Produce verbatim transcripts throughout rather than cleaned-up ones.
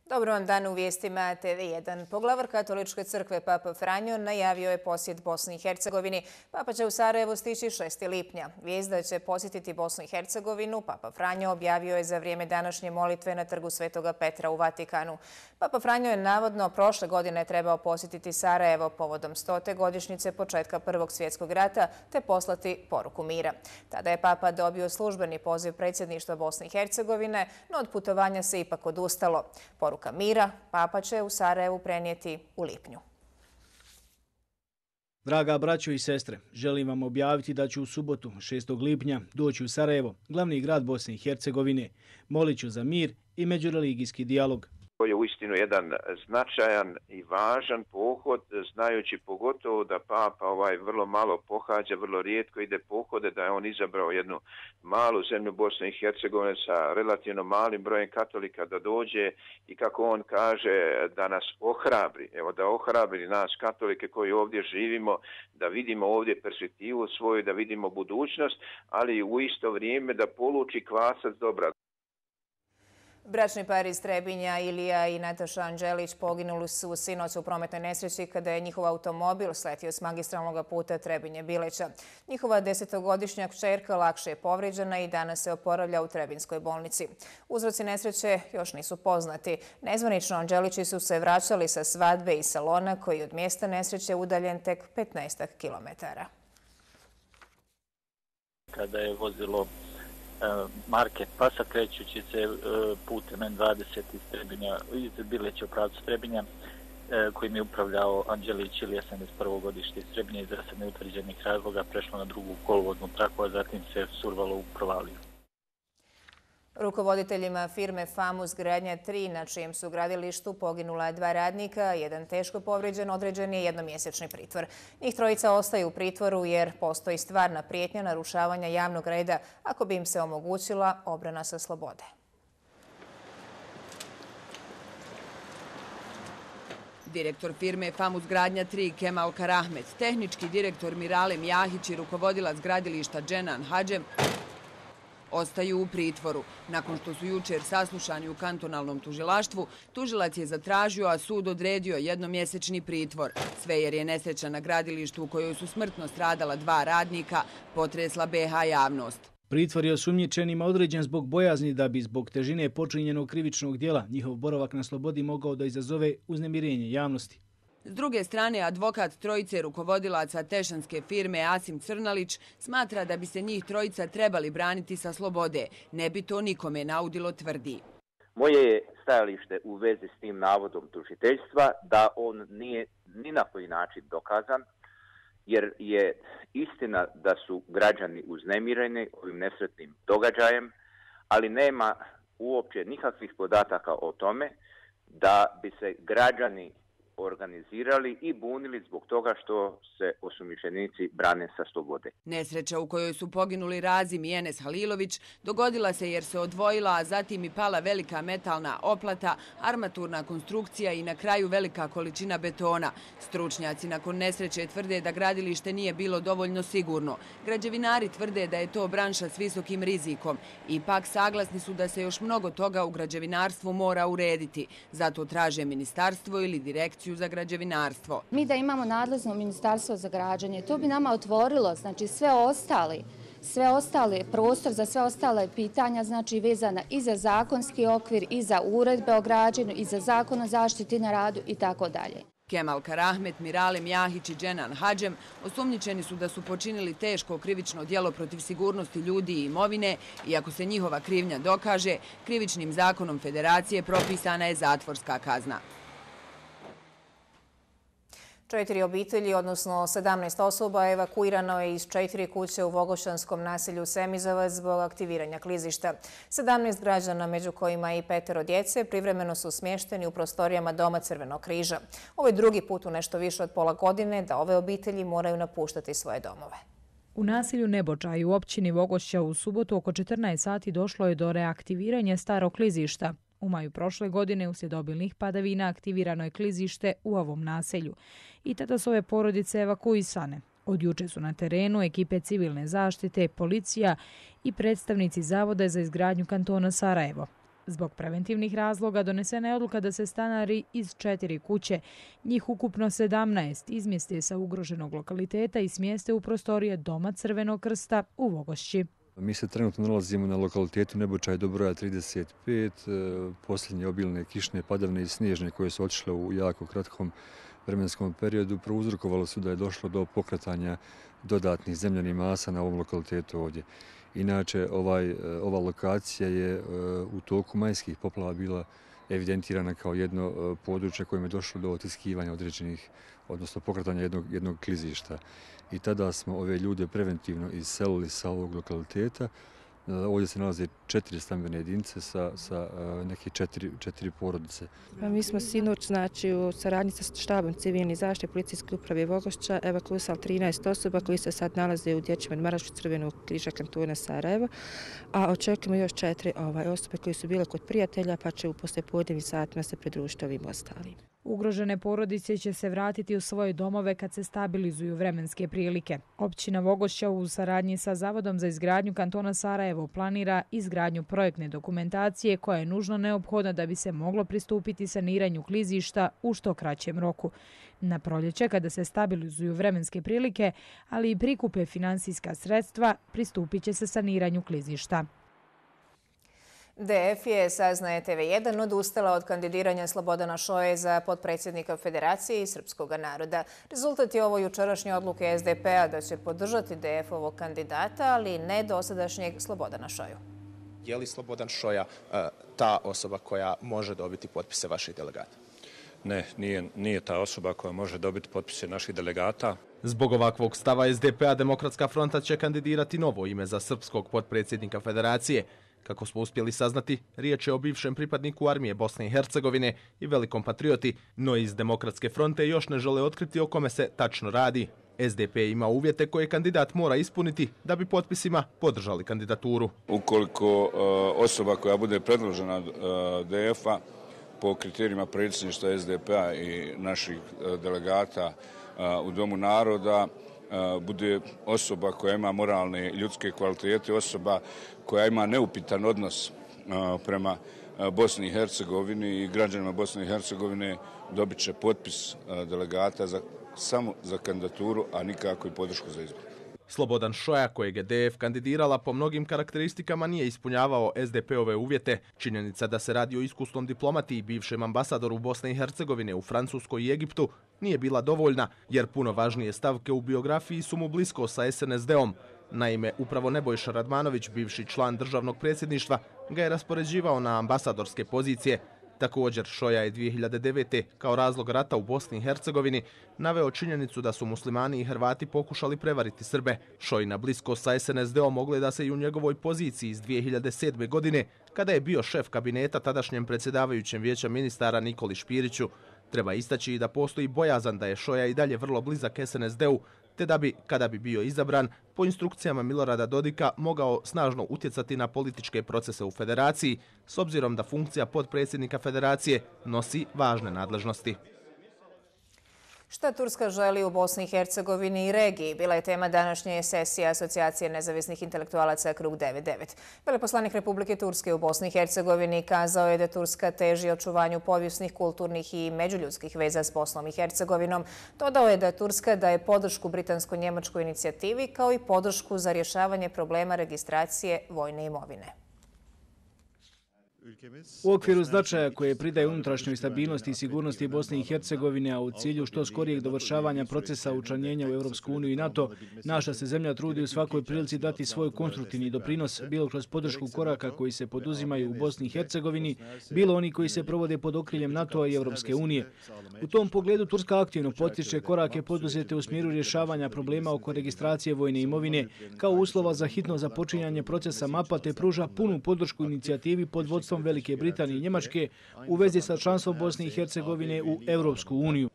Dobro vam dan u vijestima T V jedan. Poglavar Katoličke crkve Papa Franjo najavio je posjet Bosni i Hercegovini. Papa će u Sarajevo stići šestog lipnja. Vijest da će posjetiti Bosnu i Hercegovinu Papa Franjo objavio je za vrijeme današnje molitve na trgu Svetoga Petra u Vatikanu. Papa Franjo je navodno prošle godine trebao posjetiti Sarajevo povodom stote godišnjice početka Prvog svjetskog rata te poslati poruku mira. Tada je Papa dobio službeni poziv predsjedništva Bosne i Hercegovine, no od putovanja se ipak odustalo. Poruka mira Papa će u Sarajevu prenijeti u lipnju. Draga braćo i sestre, želim vam objaviti da ću u subotu, šestog lipnja, doći u Sarajevo, glavni grad Bosne i Hercegovine. Molit ću za mir i međureligijski dijalog. To je uistinu jedan značajan i važan pohod, znajući pogotovo da Papa ovaj vrlo malo pohađa, vrlo rijetko ide pohode, da je on izabrao jednu malu zemlju Bosne i Hercegovine sa relativno malim brojem katolika da dođe i kako on kaže da nas ohrabri, evo da ohrabri nas katolike koji ovdje živimo, da vidimo ovdje perspektivu svoju, da vidimo budućnost, ali u isto vrijeme da poluči kvasac dobra. Bračni par iz Trebinja, Ilija i Nataša Anđelić, poginuli su sinoć u prometnoj nesreći kada je njihov automobil sletio s magistralnog puta Trebinje-Bileća. Njihova desetogodišnja kćerka lakše je povrijeđena i danas se oporavlja u Trebinjskoj bolnici. Uzroci nesreće još nisu poznati. Nezvanično Anđelići su se vraćali sa svadbe iz salona koji je od mjesta nesreće udaljen tek petnaestak kilometara. Kada je vozilo marke Pasa krećući se putem N dvadeset iz Trebinja, iz Bileća u pravcu Trebinja, kojim je upravljao Anđelić Ilija, sedamdeset prvo godište iz Trebinja, iz neutvrđenih razloga prešlo na drugu kolodvoznu traku, a zatim se survalo u provaliju. Rukovoditeljima firme Famus Gradnja tri, na čijem su gradilištu poginula dva radnika, jedan teško povrijeđen, određen je jednomjesečni pritvor. Njih trojica ostaju u pritvoru jer postoji stvarna prijetnja narušavanja javnog reda ako bi im se omogućila obrana sa slobode. Direktor firme Famus Gradnja tri Kemal Karahmet, tehnički direktor Mirale Mjahić i rukovodilac gradilišta Dženan Hadžem ostaju u pritvoru. Nakon što su jučer saslušani u kantonalnom tužilaštvu, tužilac je zatražio, a sud odredio jednomjesečni pritvor. Sve jer je nesreća na gradilištu u kojoj su smrtno stradala dva radnika potresla B H javnost. Pritvor je osumnjičenima određen zbog bojazni da bi zbog težine počinjenog krivičnog djela njihov boravak na slobodi mogao da izazove uznemirenje javnosti. S druge strane, advokat trojice rukovodilaca tešanske firme Asim Crnalić smatra da bi se njih trojica trebali braniti sa slobode. Ne bi to nikome naudilo, tvrdi. Moje je stajalište u vezi s tim navodom tužiteljstva da on nije ni na koji način dokazan, jer je istina da su građani uznemireni ovim nesretnim događajem, ali nema uopće nikakvih podataka o tome da bi se građani organizirali i bunili zbog toga što se osumnjičenici brane sa slobode. Nesreća u kojoj su poginuli Razim i Enes Halilović dogodila se jer se odvojila, a zatim i pala velika metalna oplata, armaturna konstrukcija i na kraju velika količina betona. Stručnjaci nakon nesreće tvrde da gradilište nije bilo dovoljno sigurno. Građevinari tvrde da je to branša s visokim rizikom. Ipak saglasni su da se još mnogo toga u građevinarstvu mora urediti. Zato traže ministarstvo ili direkciju za građevinarstvo. Mi da imamo nadležno ministarstvo za građenje, to bi nama otvorilo, znači sve ostali, sve ostale prostor za sve ostale pitanja, znači vezana i za zakonski okvir, i za uredbe o građenju, i za zakon o zaštiti na radu i tako dalje. Kemal Karahmet, Mirale Mjahić i Dženan Hadžem osumnjičeni su da su počinili teško krivično djelo protiv sigurnosti ljudi i imovine i ako se njihova krivnja dokaže, krivičnim zakonom Federacije propisana je zatvorska kazna. Četiri obitelji, odnosno sedamnaest osoba, evakuirano je iz četiri kuće u Vogošćanskom naselju Semizovac zbog aktiviranja klizišta. sedamnaest građana, među kojima i petero djece, privremeno su smješteni u prostorijama Doma Crvenog križa. Ovo je drugi put u nešto više od pola godine da ove obitelji moraju napuštati svoje domove. U naselju Nebočaj u općini Vogošća u subotu oko četrnaest sati došlo je do reaktiviranja starog klizišta. U maju prošle godine uslijed obilnih padavina aktivirano je klizište u ovom naselju i tada su ove porodice evakuisane. Od juče su na terenu ekipe civilne zaštite, policija i predstavnici Zavoda za izgradnju kantona Sarajevo. Zbog preventivnih razloga donesena je odluka da se stanari iz četiri kuće, njih ukupno sedamnaest, izmjeste sa ugroženog lokaliteta i smjeste u prostorije Doma Crvenog krsta u Vogošći. Mi se trenutno nalazimo na lokalitetu Nebočaj do broja trideset pet. Posljednje obilne kišne padavine i snježne koje su otišle u jako kratkom vremenskom periodu prouzrokovalo su da je došlo do pokretanja dodatnih zemljanih masa na ovom lokalitetu ovdje. Inače, ovaj, ova lokacija je u toku majskih poplava bila evidentirana kao jedno područje kojim je došlo do otiskivanja određenih, odnosno pokretanja jednog, jednog klizišta. I tada smo ove ljude preventivno iselili sa ovog lokaliteta. Ovdje se nalaze četiri stambene jedinice sa, sa neke četiri, četiri porodice. Mi smo sinoć, znači, u saradnji sa štabom civilne zaštite policijske uprave Vogošća evakuisali trinaest osoba koji se sad nalaze u dječjem odmaralištu Crvenog križa kantona Sarajevo, a očekujemo još četiri ovaj, osobe koje su bile kod prijatelja, pa će u poslijepodnevnim satima se pridružiti ovim ostalim. Ugrožene porodice će se vratiti u svoje domove kad se stabilizuju vremenske prilike. Općina Vogošća u saradnji sa Zavodom za izgradnju kantona Sarajevo planira izgradnju projektne dokumentacije koja je nužno neophodna da bi se moglo pristupiti saniranju klizišta u što kraćem roku. Na proljeće, kada se stabilizuju vremenske prilike, ali i prikupe finansijska sredstva, pristupit će se saniranju klizišta. D F je, saznaje T V jedan, odustala od kandidiranja Slobodana Šoje za potpredsjednika Federacije i srpskog naroda. Rezultat je ovo jučerašnje odluke S D P-a da će podržati D F-ovog kandidata, ali ne dosadašnjeg Slobodana Šoju. Je li Slobodan Šoja ta osoba koja može dobiti potpise vaših delegata? Ne, nije, nije ta osoba koja može dobiti potpise naših delegata. Zbog ovakvog stava S D P-a Demokratska fronta će kandidirati novo ime za srpskog potpredsjednika Federacije. Kako smo uspjeli saznati, riječ je o bivšem pripadniku armije Bosne i Hercegovine i velikom patrioti, no iz Demokratske fronte još ne žele otkriti o kome se tačno radi. S D P ima uvjete koje kandidat mora ispuniti da bi potpisima podržali kandidaturu. Ukoliko uh, osoba koja bude predložena uh, D F-a po kriterijima predsjedništva S D P-a i naših uh, delegata uh, u Domu naroda bude osoba koja ima moralne ljudske kvalitete, osoba koja ima neupitan odnos prema Bosni i Hercegovini i građanima Bosne i Hercegovine, dobit će potpis delegata za, samo za kandidaturu, a nikako i podršku za izbor. Slobodan Šoja, kojeg je D F kandidirala, po mnogim karakteristikama nije ispunjavao S D P-ove uvjete. Činjenica da se radi o iskusnom diplomati i bivšem ambasadoru Bosne i Hercegovine u Francuskoj i Egiptu nije bila dovoljna, jer puno važnije stavke u biografiji su mu blisko sa S N S D-om. Naime, upravo Nebojša Radmanović, bivši član državnog predsjedništva, ga je raspoređivao na ambasadorske pozicije. Također, Šoja je dvije hiljade devete. kao razlog rata u Bosni i Hercegovini naveo činjenicu da su muslimani i Hrvati pokušali prevariti Srbe. Šojina bliskost sa S N S D-om ogleda se i u njegovoj poziciji iz dvije hiljade sedme. godine, kada je bio šef kabineta tadašnjem predsjedavajućem vijeća ministara Nikoli Špiriću. Treba istaći i da postoji bojazan da je Šoja i dalje vrlo blizak S N S D-u, te da bi, kada bi bio izabran, po instrukcijama Milorada Dodika mogao snažno utjecati na političke procese u Federaciji, s obzirom da funkcija potpredsjednika Federacije nosi važne nadležnosti. Šta Turska želi u Bosni i Hercegovini i regiji bila je tema današnje sesije Asocijacije nezavisnih intelektualaca Krug devet devet. Veleposlanik Republike Turske u Bosni i Hercegovini kazao je da Turska teži očuvanju povijesnih, kulturnih i međuljudskih veza s Bosnom i Hercegovinom. Dodao je da Turska daje podršku britansko-njemačkoj inicijativi kao i podršku za rješavanje problema registracije vojne imovine. U okviru značaja koje pridaje unutrašnjoj stabilnosti i sigurnosti Bosne i Hercegovine, a u cilju što skorijeg dovršavanja procesa učlanjenja u Europsku uniju i NATO, naša se zemlja trudi u svakoj prilici dati svoj konstruktivni doprinos, bilo kroz podršku koraka koji se poduzimaju u Bosni i Hercegovini, bilo oni koji se provode pod okriljem NATO-a i Europske unije. U tom pogledu Turska aktivno potiče korake poduzete u smjeru rješavanja problema oko registracije vojne imovine, kao uslova za hitno započinjanje procesa mapa, te pruža punu podršku inicijativi pod vodstvom Velike Britanije i Njemačke u vezi sa članstvom Bosne i Hercegovine u Europsku uniju.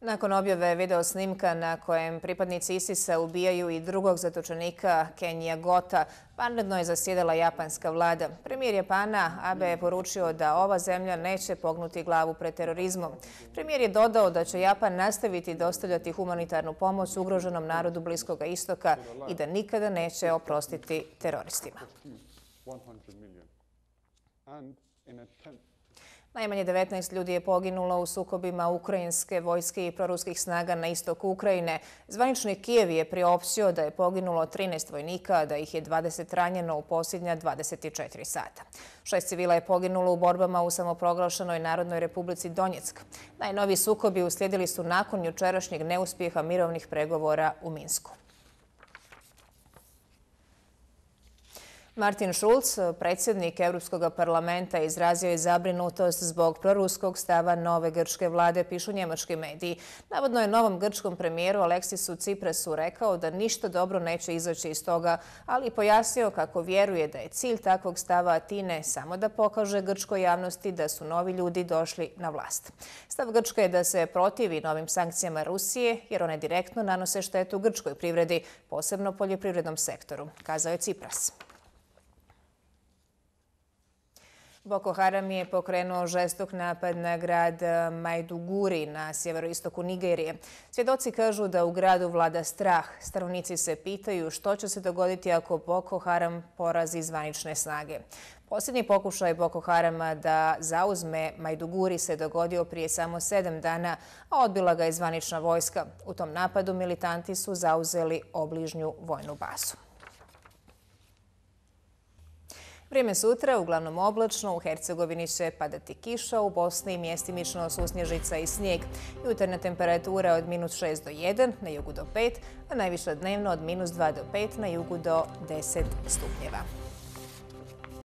Nakon objave video snimka na kojem pripadnici ISIS-a ubijaju i drugog zatočenika Kenija Gota, vanredno je zasjedala japanska vlada. Premijer Japana Abe je poručio da ova zemlja neće pognuti glavu pred terorizmom. Premijer je dodao da će Japan nastaviti dostavljati humanitarnu pomoć ugroženom narodu Bliskoga istoka i da nikada neće oprostiti teroristima. Najmanje devetnaest ljudi je poginulo u sukobima ukrajinske vojske i proruskih snaga na istoku Ukrajine. Zvanični Kijev je priopštio da je poginulo trinaest vojnika, a da ih je dvadeset ranjeno u posljednja dvadeset četiri sata. Šest civila je poginulo u borbama u samoproglašenoj Narodnoj republici Donjeck. Najnoviji sukobi uslijedili su nakon jučerašnjeg neuspjeha mirovnih pregovora u Minsku. Martin Schulz, predsjednik Europskog parlamenta, izrazio je zabrinutost zbog proruskog stava nove grčke vlade, pišu njemački mediji. Navodno je novom grčkom premijeru Aleksisu Tsiprasu rekao da ništa dobro neće izaći iz toga, ali pojasnio kako vjeruje da je cilj takvog stava Atine samo da pokaže grčkoj javnosti da su novi ljudi došli na vlast. Stav Grčke je da se protivi novim sankcijama Rusije, jer one direktno nanose štetu grčkoj privredi, posebno poljoprivrednom sektoru, kazao je Tsipras. Boko Haram je pokrenuo žestok napad na grad Maiduguri na sjeveroistoku Nigerije. Svjedoci kažu da u gradu vlada strah. Stanovnici se pitaju što će se dogoditi ako Boko Haram porazi zvanične snage. Posljednji pokušaj Boko Harama da zauzme Maiduguri se dogodio prije samo sedam dana, a odbila ga je zvanična vojska. U tom napadu militanti su zauzeli obližnju vojnu bazu. Vrijeme sutra, uglavnom oblačno, u Hercegovini će padati kiša, u Bosni mjestimično susnježica i snijeg. Jutarnja temperatura od minus šest do jedan, na jugu do pet, a najviša dnevno od minus dva do pet, na jugu do deset stupnjeva.